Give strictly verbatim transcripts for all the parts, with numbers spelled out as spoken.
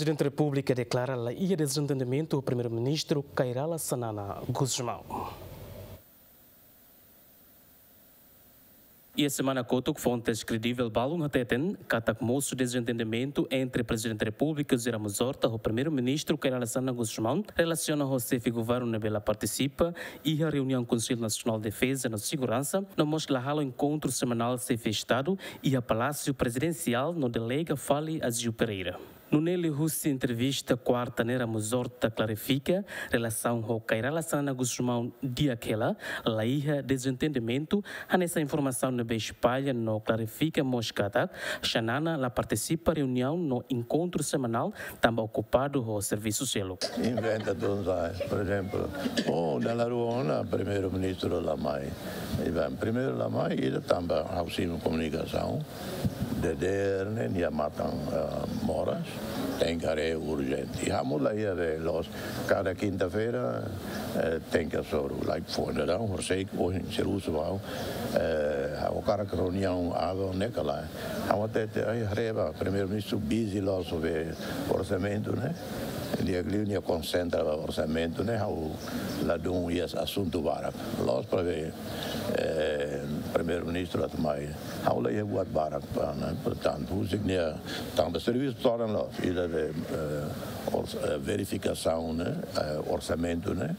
Prezidente Repúblika deklara la iha dezentendimentu ho Primeiru-Ministru Kay Rala Xanana Gusmão. Iha semana kotuk, fontes kredivel balun hateten katak mosu dezentendimentu entre Prezidente Repúblika José Ramos Horta ho Primeiru-Ministru Kay Rala Xanana Gusmão relasiona ho xefe governu ne'ebé la partisipa iha reuniaun Konsellu Nasionál Defeza no Seguransa, no mós la halo enkontru semanál xefe Estadu iha Palásiu Prezidensiál no delega fali Aziu Pereira. Nune'e liuhusi entrevista kuarta ne'e, Ramos Horta klarifika relasaun ho Kay Rala Xanana Gusmão di'ak hela, la iha dezentendimentu, hanesan informasaun ne'ebé espalla, no klarifika mós katak Xanana la partisipa reuniaun no enkontru semanál tanba okupadu ho servisu seluk. Inventa tudo, sabe? Por exemplo, oh, dala rua ona Primeiru-Ministru la mai. I bem, primeiru la mai, ida tanba ha'u simu komunikasaun, dadeer ne'e nia matan, ah, moras, tenke haree urjente. I ha'u la iha be loos, kada kinta-feira, eh, tenke hasoru, like, foin daudaun, horisehik, ohin servisu bá, eh, ha'u hakarak reuniaun aban ne'e ka lae. Ha'u hatete, ai, haree ba, Primeiru-Ministru busy loos be orsamentu ne'e. Di'ak liu nia konsentra ba orsamentu ne'e, ha'u ladún iha asuntu barak. Loos para be, eh, Primeiru-Ministru atu mai. Ha'u la iha buat barak para, ne'e? Portantu, husik nia tanba servisu todan loos, ida be, eh, ors-, eh, verifikasaun ne'e, eh, orsamentu ne'e.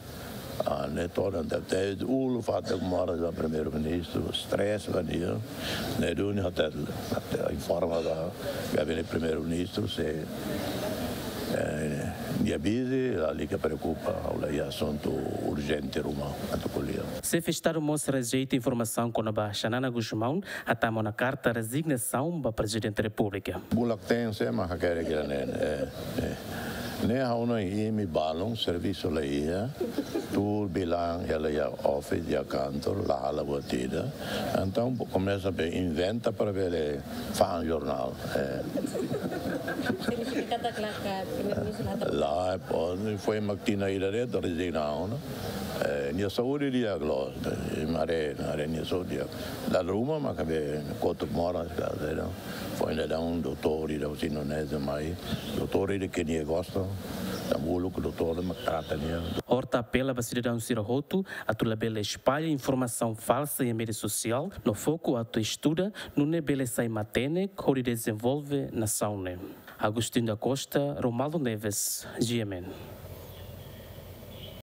Ah, ne'e todan, te, te uluk fatuk moras ba Primeiru-Ministru, stress ba nia. Ne'e duni hatete, hatete informa ba Gabinete Primeiru-Ministru se, eh, nia busy, lalika preokupa, ha'u la iha asuntu urjente ruma atu ko'alia. Xefe Estadu mós rejeita informasaun kona-ba Xanana Gusmão atu manda karta rezignasaun ba Prezidente Repúblika. Bulak tense ma hakerek ida-ne'e, eh, eh. Ne'e ha'u-nia imi balun, servisu la iha, tuur bilan hela iha office, iha kantor, la halo buat ida. Entaun, komesa be inventa para bele fa'an jornál, eh. Signifika katak la ka Primeiru-Ministru la hatama? Lae, pode, foin mak tinan ida de'it rezigna ona. Eh, nia saúde di'ak loos, eh, haree, haree nia saúde di'ak. Dala ruma maka be kotuk moras ka, eh, foin daudaun doutór ida husi Indonézia mai, doutór ida ke nia gosta, tanba uluk doutór mak trata nia. Horta apela ba sidadaun sira hotu atu labele espalla informasaun falsa iha média sosiál, no foku atu estuda nune'e bele sai matenek hodi dezenvolve nasaun ne'e. Agostinho da Costa, Romualdo Neves, G M N.